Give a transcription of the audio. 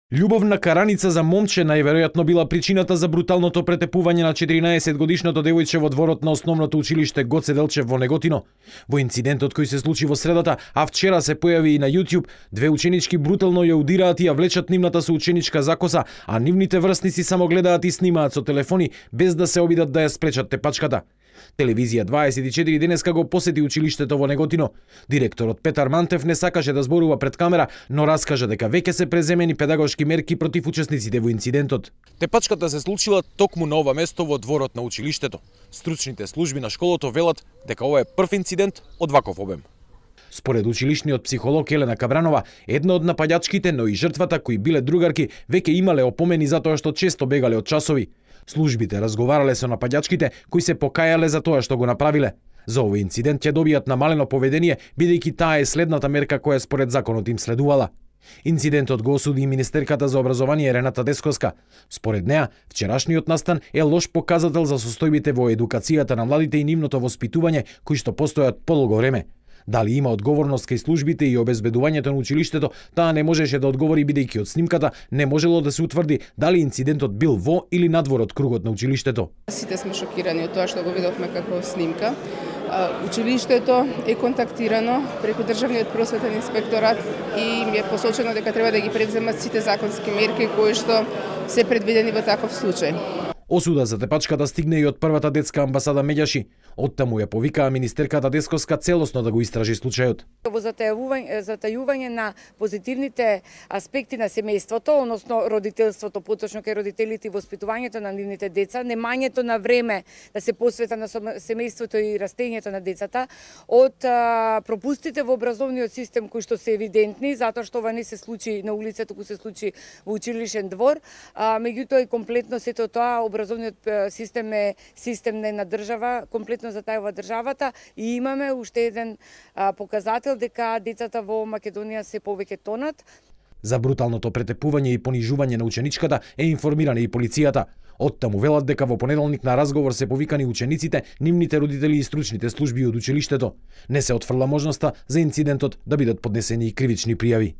Љубовна караница за момче најверојатно била причината за бруталното претепување на 14-годишното девојче во дворот на основното училиште Гоце Делчев во Неготино. Во инцидентот кој се случи во средата, а вчера се појави и на YouTube, две ученички брутално ја удираат и ја влечат нивната соученичка за коса, а нивните врсници само гледаат и снимаат со телефони без да се обидат да ја спречат тепачката. Телевизија 24 денеска го посети училиштето во Неготино. Директорот Петар Мантев не сакаше да зборува пред камера, но раскажа дека веќе се преземени педагошки мерки против учесниците во инцидентот. Тепачката се случила токму на ова место во дворот на училиштето. Стручните служби на школото велат дека ова е прв инцидент од ваков обем. Според училишниот психолог Елена Кабранова, една од напаѓачките, но и жртвата кои биле другарки, веќе имале опомени затоа што често бегале од часови. Службите разговарале со напаѓачките кои се покајале за тоа што го направиле. За овој инцидент ќе добијат намалено поведение, бидејќи таа е следната мерка која според законот им следувала. Инцидентот го осуди и министерката за образование Рената Десковска. Според неа, вчерашниот настан е лош показател за состојбите во едукацијата на младите и нивното воспитување кои што постојат подолго време. Дали има одговорност кај службите и обезбедувањето на училиштето, таа не можеше да одговори бидејќи од снимката не можело да се утврди дали инцидентот бил во или надвор од кругот на училиштето. Сите сме шокирани од тоа што го видовме како снимка. Училиштето е контактирано преку Државниот просветен инспекторат и им е посочено дека треба да ги преземат сите законски мерки кои што се предвидени во таков случај. Осуда за тепачката стигне и од првата детска амбасада Меѓаши. Оттаму ја повикаа министерката Десковска целосно да го истражи случајот. Во затајување на позитивните аспекти на семејството, односно родителството, поточно кај родителите и воспитувањето на нивните деца, немањето на време да се посвета на семејството и растењето на децата, од пропустите во образовниот систем кои што се евидентни, затоа што ова не се случи на улица, туку се случи во училишен двор, меѓутоа и комплетно сето тоа образовниот систем е систем на една држава, комплетно затајува државата и имаме уште еден показател дека децата во Македонија се повеќе тонат. За бруталното претепување и понижување на ученичката е информирана и полицијата. Оттаму велат дека во понеделник на разговор се повикани учениците, нивните родители и стручните служби од училиштето. Не се отфрла можноста за инцидентот да бидат поднесени и кривични пријави.